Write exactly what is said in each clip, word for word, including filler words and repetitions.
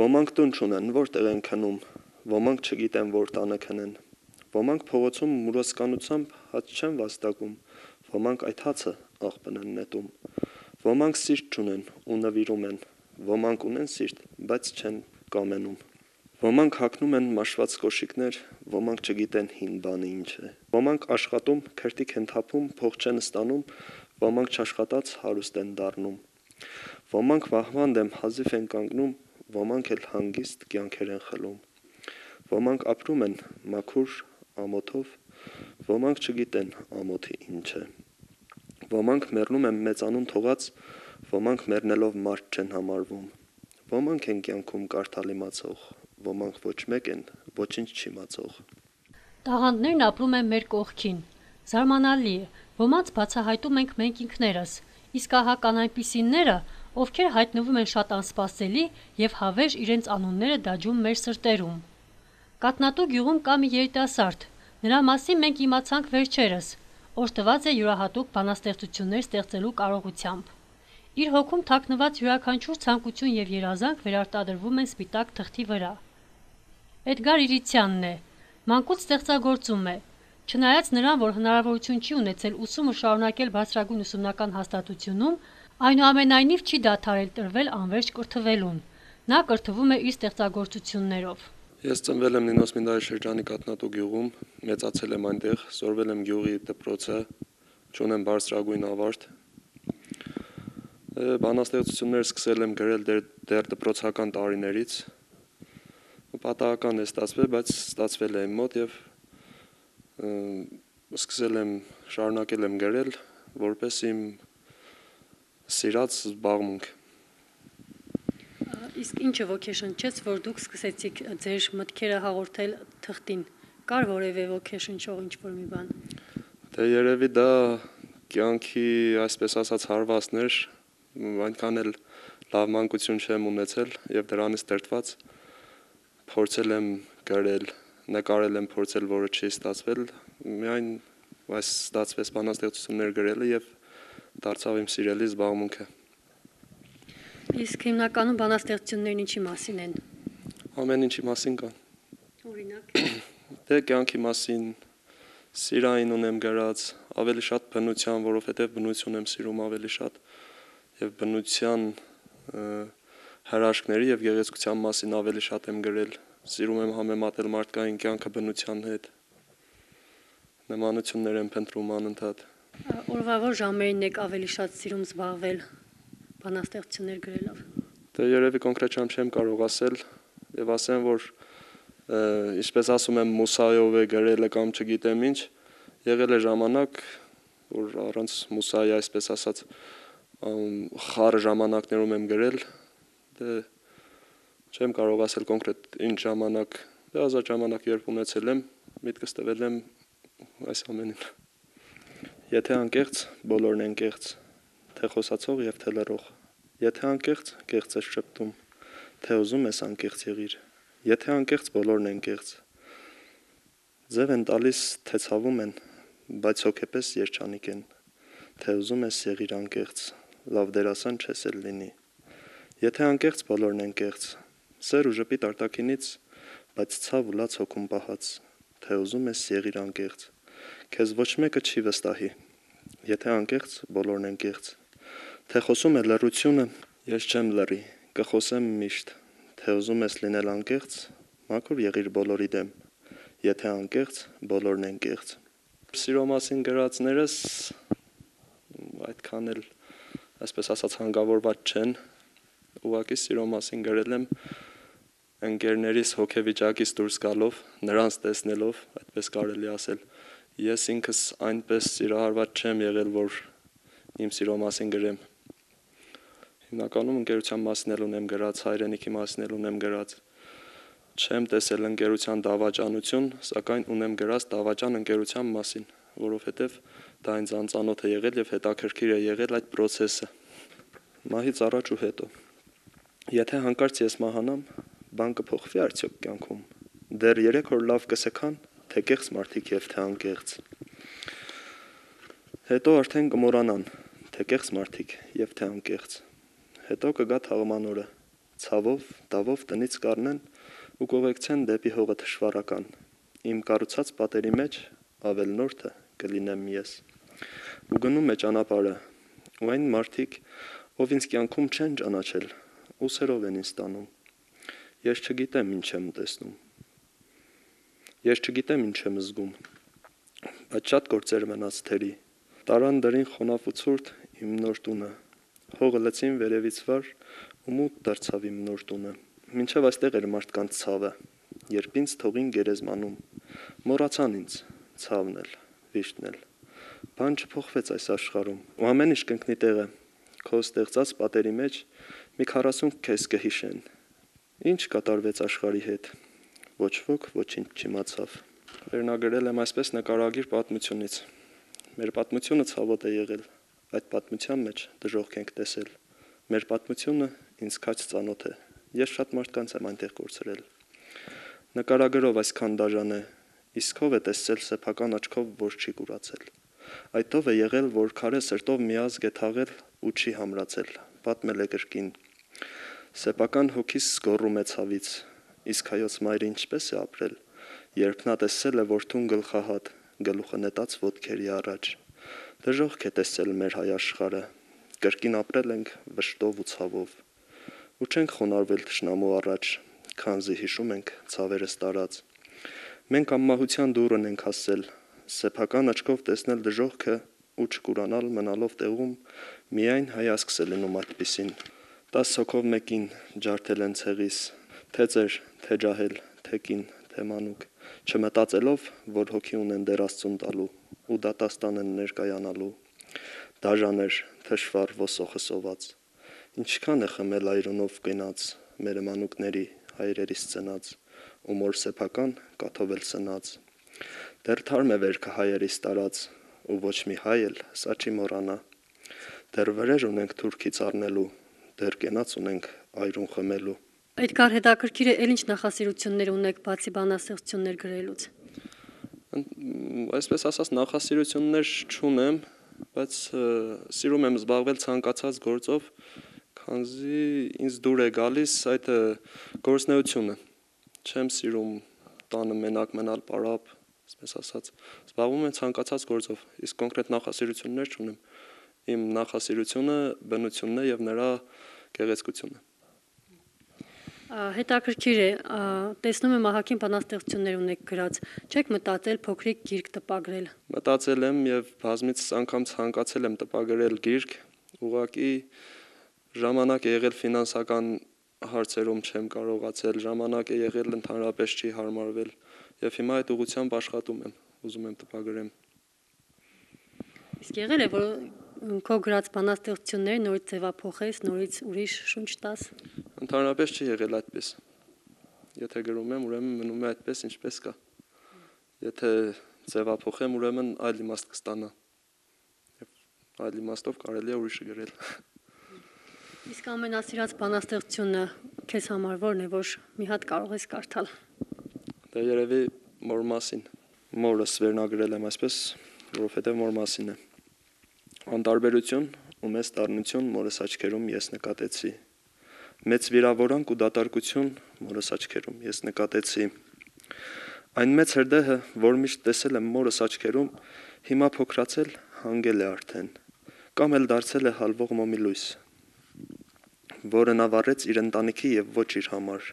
Ոմանք տուն չունեն, որտեղ են քնում, ոմանք չգիտեն, որ տանը քնեն, ոմանք փողոցում մուրոսկանությամբ հաց չեն վաստակում, ոմանք այդ հացը աղբն են նետում, ոմանք սիրտ չունեն ու նվիրում են, ոմանք ունեն սիրտ, բայց չեն կամենում, ոմանք հագնում են մաշված կոշիկներ, ոմանք չգիտեն հին բանը ինչ է, ոմանք աշխատում, քրտիկ են թափում, փող չեն ստանում, ոմանք չաշխատած հարուստ են դառնում, ոմանք վահման դեմ հազիվ են կանգնում, ոմանք էլ հանգիստ կյանքեր են խլում, ոմանք ապրում են մաքուր ամոթով, ոմանք չգիտեն ամոթի ինչ է, ոմանք մեռնում են մեծանուն թողած, ոմանք մեռնելով մարդ չեն համարվում, ոմանք են կյանքում կարդալ իմացող, ոմանք ոչ մեկ են ոչինչ չիմացող։ Տաղանդներն ապրում են մեր կողքին, զարմանալի է, ոմանց բացահայտում ենք մենք ինքներս, իսկ ահա կան այնպիսիները, ովքեր հայտնվում են շատ անսպասելի և հավերժ իրենց անունները դաջում մեր սրտերում։ Կաթնատու գյուղում կա մի երիտասարդ, նրա մասին մենք իմացանք վերջերս, օժտված է յուրահատուկ բանաստեղծություններ ստեղծելու կարողությամբ։ Իր հոգում թաքնված յուրաքանչյուր ցանկություն և երազանք վերարտադրվում են սպիտակ թղթի վրա։ Էդգար Իրիցյանն է, մանկուց ստեղծագործում է, չնայած նրան, որ հնարավորություն չի ունեցել ուսումը շարունակել բարձրագույն ուսումնական հաստատությունում, այնուամենայնիվ չի դադարել տրվել անվերջ կրթվելուն, նա կրթվում է իր ստեղծագործություններով։ Ես ծնվել եմ Նինոս Մինդարի շրջանի Կաթնատու գյուղում, մեծացել եմ այնտեղ, սորվել եմ գյուղի դպրոցը, չունեմ բարձրագույն ավարտ։ Բանաստեղծություններ սկսել եմ գրել դեռ, դեռ դպրոցական տարիներից, պատահական է ստացվել, բայց ստացվել է իմ մոտ և սկսել եմ, շարունակել եմ գրել, որպես իմ սիրած զբաղմունք։ Իսկ ինչը ոգեշնչեց, որ դուք սկսեցիք ձեր մտքերը հաղորդել թղթին, կար որևէ ոգեշնչող ինչ-որ մի բան։ Դե երևի դա կյանքի, այսպես ասած, հարվածներ, այնքան էլ լավ մանկություն չեմ ունեցել և դրանից դրդված փորձել եմ գրել, նկարել եմ փորձել, որը չի ստացվել, միայն այս ստացվեց բանաստեղծություններ գրելը և դարձավ իմ սիրելի զբաղմունքը։ Իսկ հիմնականում բանաստեղծություններն ինչի մասին են։ Ամեն ինչի մասին կան։ Օրինակ։ Դե կյանքի մասին, սիրային ունեմ գրած, ավելի շատ բնության, որովհետև բնություն եմ սիրում ավելի շատ և բնության հրաշքների և գեղեցկության մասին ավելի շատ եմ գրել, սիրում եմ համեմատել մարդկային կյանքը բնության հետ, նմանություններ եմ փնտրում անընդհատ։ Օրվա որ ժամերին եք ավելի շատ սիրում զբաղվել բանաստեղծություններ գրելով։ Դե երևի կոնկրետ ժամ չեմ կարող ասել և ասեմ, որ ինչպես ասում եմ մուսայով է գրելը կամ չգիտեմ ինչ, եղել է ժամանակ, որ առանց մուսայի, այսպես ասած, խառը ժամանակներում եմ գրել, դե չեմ կարող ասել կոնկրետ ինչ ժամանակ, դե ազատ ժամանակ երբ ունեցել եմ, միտքս տվել եմ այս ամենին։ Եթե անկեղծ, բոլորն են կեղծ, թե խոսացող և թե լռող, եթե անկեղծ, կեղծ ես շփտում, թե ուզում ես անկեղծ եղիր, եթե անկեղծ, բոլորն են կեղծ, ձև են տալիս, թե ցավում են, բայց հոգեպես երջանիկ են, թե ուզում ես եղիր անկեղծ, լավ դերասան չես էլ լինի, եթե անկեղծ, բոլորն են կեղծ, սեր ու ժպիտ արտաքինից, բայց ցավ ու լաց հոգում պահած, թե ուզում ես եղիր անկեղծ, քեզ ոչ մեկը չի վստահի, եթե անկեղծ, բոլորն են կեղծ, թե խոսում է լռությունը, ես չեմ լռի, կխոսեմ միշտ, թե ուզում ես լինել անկեղծ, մաքուր եղիր բոլորի դեմ, եթե անկեղծ, բոլորն են կեղծ։ Սիրո մասին գրածներս այդքան էլ, այսպես ասած, հանգավորված չեն, ուղղակի սիրո մասին գրել եմ ընկերներիս հոգեվիճակից դուրս գալով, նրանց տեսնելով, այդպես կարելի ասել, ես ինքս այնպես սիրահարված չեմ եղել, որ իմ սիրո մասին գրեմ։ Հիմնականում ընկերության մասին էլ ունեմ գրած, հայրենիքի մասին էլ ունեմ գրած, չեմ տեսել ընկերության դավաճանություն, սակայն ունեմ գրած դավաճան ընկերության մասին, որովհետև դա ինձ անծանոթ է եղել և հետաքրքիր է եղել այդ պրոցեսը։ Մահից առաջ ու հետո։ Եթե հանկարծ ես մահանամ, բան կփոխվի արդյոք կյանքում։ Դեռ երեք օր լավ կսքան, թե կեղծ մարդիկ և թե անկեղծ։ Հետո արդեն կմոռանան, թե կեղծ մարդիկ և թե անկեղծ։ Հետո կգա թաղման օրը, ցավով, դավով տնից կառնեն ու կողեկցեն դեպի հողը թշվառական։ Իմ կառուցած պատերի մեջ ավելնորդը կլինեմ ես։ Ու գնում է ճանապարհը, ու այն մարդիկ, ով ինձ կյանքում չեն ճանաչել, ուսերով են ինձ տանում։ Ես չգիտեմ ինչ եմ տեսնում։ Ես չգիտեմ ինչ եմ զգում, բայց շատ գործեր մնաց թերի։ Տարան դրին խոնավ ու ցուրտ իմ նոր տունը, հողը լցին վերևից վար ու մութ դարձավ իմ նոր տունը։ Մինչև այստեղ էր մարդկանց ցավը, երբ ինձ թողին գերեզմանում, մոռացան ինձ, ցավն էլ, վիշտն էլ։ Բան չփոխվեց այս աշխարհում, ու ամեն ինչ կընկնի տեղը, քո ստեղծած պատերի մեջ մի քառասուն քեզ կհիշեն։ Ինչ կատարվեց աշխարհի հետ, ոչ ոք ոչինչ չիմացավ։ Վերնագրել եմ այսպես նկարագիր պատմությունից։ Մեր պատմությունը ցավոտ է եղել, այդ պատմության մեջ դժոխք ենք տեսել։ Մեր պատմությունը ինձ քաջ ծանոթ է, ես շատ մարդկանց եմ այնտեղ կորցրել։ Նկարագրով այսքան դաժան է, իսկ ով է տեսել սեփական աչքով, որ չի կուրացել։ Այդ ով է եղել, որ քարե սրտով մի ազգ է թաղել ու չի համրացել, պատմել է կրկին։ Սեփական հոգիս զգոռում է ցավից, իսկ հայոց մայրը ինչպես է ապրել, երբ նա տեսել է որդուն գլխահատ, գլուխը նետած ոտքերի առաջ։ Դժոխք է տեսել մեր հայ աշխարհը, կրկին ապրել ենք վշտով ու ցավով, ու չենք խոնարհվել թշնամու առաջ, քանզի հիշում ենք ցավերս տարած։ Մենք անմահության դուռն ենք հասել, սեփական աչքով տեսնել դժոխքը ու չկուրանալ մնալով տեղում, միայն հայացքս է լինում այդպիսին։ Տաս հոգով մեկին ջարդել են ցեղիս, թե ծեր, թե ջահել, թե կին, թե մանուկ, չմտածելով, որ հոգի ունեն դեր Աստծուն տալու ու դատաստան են ներկայանալու։ Դաժան էր, թշվառ ոսոխը սոված, ինչքան է խմել այրոնով կենաց, մեր մանուկների, հայրերիս ծնած, ու մոր սեփական կաթով էլ սնած։ Դեռ թարմ է վերքը հայերիս տարած, ու ոչ մի հայ էլ սա չի մոռանա։ Դեռ վրեժ ունենք թուրքից առնելու, դեռ կենաց ունենք այրուն խմելու։ Այդքան հետաքրքիր է, էլ ինչ նախասիրություններ ունեք բացի բանաստեղծություններ գրելուց։ Այսպես ասած նախասիրություններ չունեմ, բայց սիրում եմ զբաղվել ցանկացած գործով, քանզի ինձ դուր է գալիս այդ գործնեությունը։ Չեմ սիրում տանը մենակ մնալ պարապ, այսպես ասած, զբաղվում եմ ցանկացած գործով, իսկ կոնկրետ նախասիրություններ չունեմ։ Իմ նախասիրությունը բնությունն է եւ նրա գեղեցկությունը։ Հետաքրքիր է, տեսնում եմ ահագին բանաստեղծություններ ունեք գրած, չեք մտածել փոքրիկ գիրք տպագրել։ Մտածել եմ եւ բազմից անգամ ցանկացել եմ տպագրել գիրք, ուղղակի ժամանակ է եղել ֆինանսական հարցերում չեմ կարողացել, ժամանակ է եղել ընդհանրապես չի հարմարվել եւ հիմա այդ ուղղությամբ աշխատում եմ, ուզում եմ տպագրեմ։ Իսկ եղել է, որ քո գրած բանաստեղծությունները նորից ձևափոխես, նորից ուրիշ շունչ տաս։ Ընդհանրապես չի եղել այդպես։ Եթե գրում եմ, ուրեմն մնում է այդպես, ինչպես կա։ Եթե ձևափոխեմ, ուրեմն այլ իմաստ կստանա։ Եվ այլ իմաստով կարելի է ուրիշը գրել։ Իսկ ամենասիրած բանաստեղծությունը քեզ համար ո՞րն է, որ մի հատ կարող ես կարդալ։ Դա երևի մոր մասին։ Մորս վերնագրել եմ այսպես, որովհետև մոր մասին է։ Անտարբերություն ու մեծ դառնություն մորս աչքերում ես նկատեցի։ Մեծ վիրավորանք ու դատարկություն մորս աչքերում ես նկատեցի։ Այն մեծ հրդեհը, որ միշտ տեսել եմ մորս աչքերում, հիմա փոքրացել հանգել է արդեն, կամ էլ դարձել է հալվող մոմի լույս, որը նա վառեց իր ընտանիքի եւ ոչ իր համար։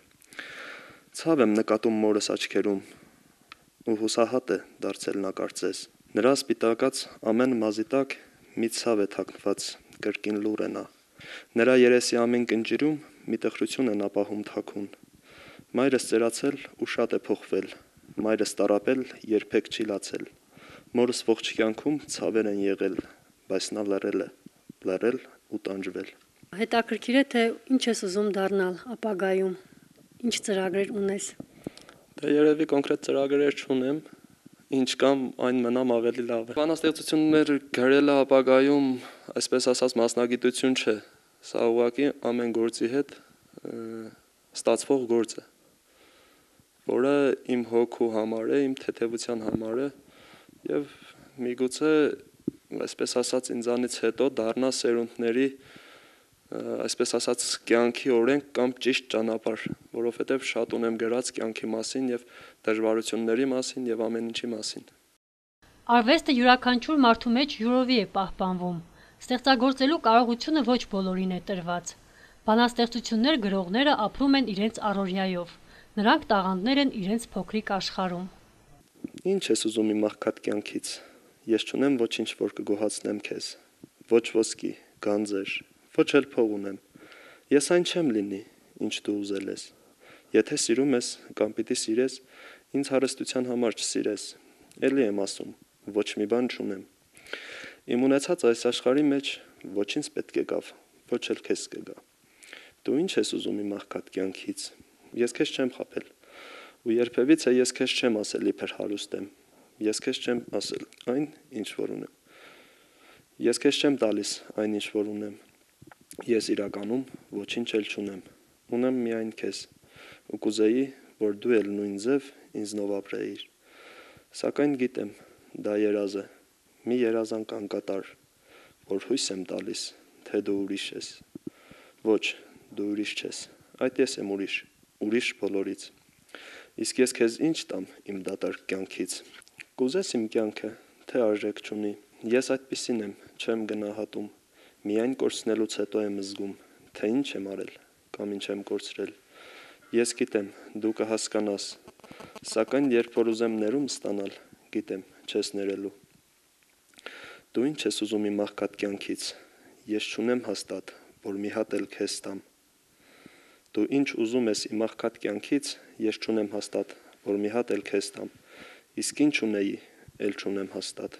Ցավ եմ նկատում մորս աչքերում, ու հուսահատ է դարձել նա կարծես։ Նրա սպիտակած ամեն մազի տակ մի ցավ է թաքնված, կրկին լուր է նա։ Նրա երեսի ամեն կնճիրում մի տխրություն են ապահում թաքուն։ Մայրս ծերացել ու շատ է փոխվել, մայրս տարապել երբեք չի լացել։ Մորս ողջ կյանքում ցավեր են եղել, բայց նա լռել է, լռել ու տանջվել։ Հետաքրքիր է, թե ինչ ես ուզում դառնալ ապագայում, ինչ ծրագրեր ունես։ Դե երևի կոնկրետ ծրագրեր չունեմ, ինչ կամ այն մնամ ավելի լավ է։ Բանաստեղծություններ գրելը ապագայում, այսպես ասած, մասնագիտություն չէ։ Սա ուղղակի ամեն գործի հետ ստացվող գործ է, որը իմ հոգու համար է, իմ թեթևության համար է եւ միգուցե, այսպես ասած, ինձանից հետո դառնա սերունդների այսպես ասած կյանքի օրենք կամ ճիշտ ճանապարհ, որովհետև շատ ունեմ գրած կյանքի մասին եւ դժվարությունների մասին եւ ամեն ինչի մասին։ Արվեստը յուրաքանչյուր մարդու մեջ յուրովի է պահպանվում։ Ստեղծագործելու կարողությունը ոչ բոլորին է տրված։ Բանաստեղծություններ գրողները ապրում են իրենց առօրյայով։ Նրանք տաղանդներ են իրենց փոքրիկ աշխարհում։ Ինչ ես ուզում իմ աղքատ կյանքից։ Ես չունեմ ոչինչ, որ կգոհացնեմ քեզ։ Ոչ ոսկի, գանձեր, ոչ էլ փող ունեմ։ Ես այն չեմ լինի, ինչ դու ուզել ես։ Եթե սիրում ես կամ պիտի սիրես, ինձ հարստության համար չսիրես։ Էլի եմ ասում, ոչ մի բան չունեմ։ Իմ ունեցած այս աշխարհի մեջ ոչինչ պետք է գավ, ոչ էլ քեզ կգա։ Դու ինչ ես ուզում իմ աղքատ կյանքից։ Ես քեզ չեմ խաբել։ Ու երբևիցե ես քեզ չեմ ասել իբր հարուստ եմ։ Ես քեզ չեմ ասել այն, ինչ որ ունեմ։ Ես քեզ չեմ տալիս այն, ինչ որ ունեմ։ Ես իրականում ոչինչ էլ չունեմ։ Ունեմ միայն քեզ։ Ու կուզեի, որ դու էլ նույն ձև ինձնով ապրեիր։ Սակայն գիտեմ, դա երազ է։ Մի երազանք անկատար, որ հույս եմ տալիս, թե դու ուրիշ ես։ Ոչ, դու ուրիշ չես։ Այդ ես եմ ուրիշ, ուրիշ բոլորից։ Իսկ ես քեզ ինչ տամ իմ դատարկ կյանքից։ Կուզես իմ կյանքը, թե արժեք չունի։ Ես այդպիսին եմ, չեմ գնահատում։ Միայն կորցնելուց հետո եմ զգում, թե ինչ եմ արել կամ ինչ եմ կորցրել։ Ես գիտեմ, դու կհասկանաս, սակայն երբ որ ուզեմ ներում ստանալ, գիտեմ, չես ներելու։ Դու ինչ ես ուզում իմ աղքատ կյանքից։ Ես չունեմ հաստատ, որ մի հատ էլ քեզ տամ։ Դու ինչ ուզում ես իմ աղքատ կյանքից, ես չունեմ հաստատ, որ մի հատ էլ քեզ տամ։ Իսկ ինչ ունեի, էլ չունեմ հաստատ։